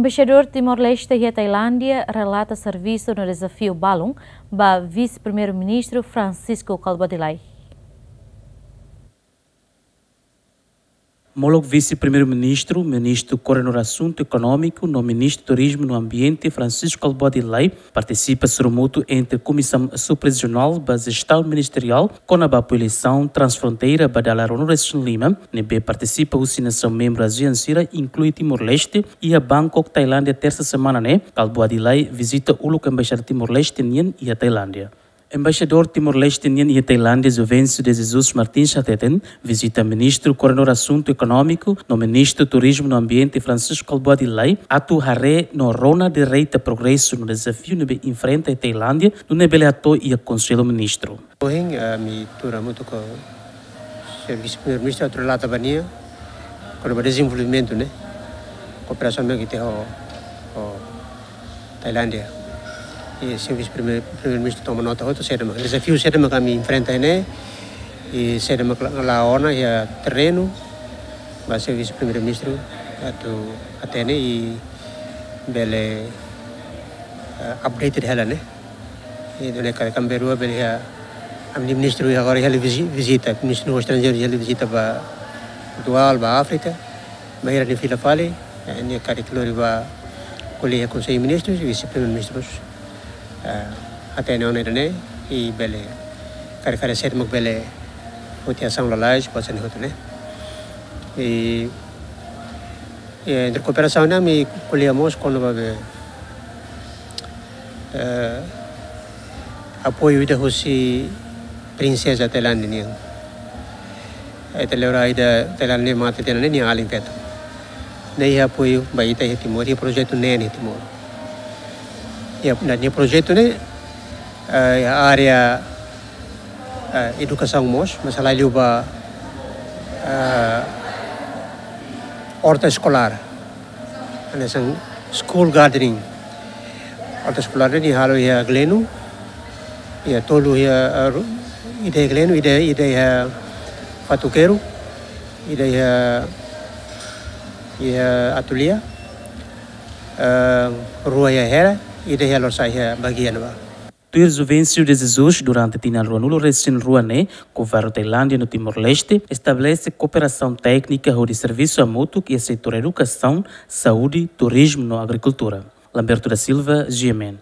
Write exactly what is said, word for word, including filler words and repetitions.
Embaixadór Timor-Leste iha Tailándia relata servisu no dezafiu balun ba Vise-Primeiru-Ministru Francisco Kalbuadi Lay. Molok Vise-Primeiru-Ministru, Ministru Koordenadór Asuntu Ekonómiku no Ministru Turizmu no Ambiente Francisco Kalbuadi Lay partisipa sorumutu entre Komisaun Suprarejionál ba Jestaun Ministeriál kona-ba apoiu eleisaun transfronteira ba dala ruanulu-resin-lima ne'ebé partisipa husi nasaun membru ASEAN sira, inklui Timor-Leste, iha Bangkok, Tailándia, tersa semana ne'e. Kalbuadi Lay vizita uluk Embaixada Timor-Leste nian iha Tailándia. Embaixadór Timor-Leste nian iha Tailándia, Juvencio de Jesus Martins, hateten vizita Ministru Koordenadór Asuntu Ekonómiku no Ministru Turizmu no Ambiente Francisco Kalbuadi Lay atu haree no rona direta progresu no dezafiu ne'ebé enfrenta iha Tailándia, nune'e bele hato'o iha Konsellu Ministru. Ohin, eh, ami tuur hamutuk ho Señór Vise-Primeiru-Ministru atu relata ba nia kona-ba dezenvolvimentu ne'e, kooperasaun ne'ebé ita iha ho, ho Tailándia. I Señór Vise-Primeiru, Primeiru-Ministru toma nota hotu saida mak dezafiu, saida mak ami enfrenta ne'e, i saida mak la, la ona iha terrenu, ba Señór Vise-Primeiru-Ministru atu hatene i bele, eh, updated hela ne'e. I done karik ami bele haree, ami-nia ministru agora halo vizi-, vizita, Ministru Estranjeiru halo vizita ba Portugal, ba Áfrika, bainhira nia fila fali, eh, nia karik lori ba ko'alia ho Konsellu Ministrus, Vise-Primeiru-Ministrus, eh, hatene ona ida-ne'e, i bele karik haree saida mak bele foti asaun lalais, kuaze ne'e hotu ne'e. I, i entre kooperasaun ne'e ami ko'alia mós kona-ba be, eh, apoiu ida husi Prinseza Tailándia nian. Ita lembra ida Tailándia mate tiha ona nia alin feto. Ne'e iha apoiu ba ita iha Timor, iha projetu neen iha Timor. Iha, nia projetu ne'e, eh, iha área, eh, edukasaun mós, maibé halai liu ba, eh, orta eskolár. Hanesan school gardening. Orta eskolár ne'e nia halo iha Gleno. Iha tolu iha, eh, ru-, ida iha Gleno, ida, ida iha Fatuqueiro, ida iha, iha Atulia, eh, rua iha Hera, ida iha Lorosa'e iha Baguia ne'ebá. Tuir Juvencio de Jesus, durante tinan ruanulu-resin-rua ne'e, Governu Tailándia no Timor-Leste estabelese kooperasaun téknika hodi servisu hamutuk iha setór edukasaun, saúde, turizmu no agrikultura. Lamberto da Silva, G M N.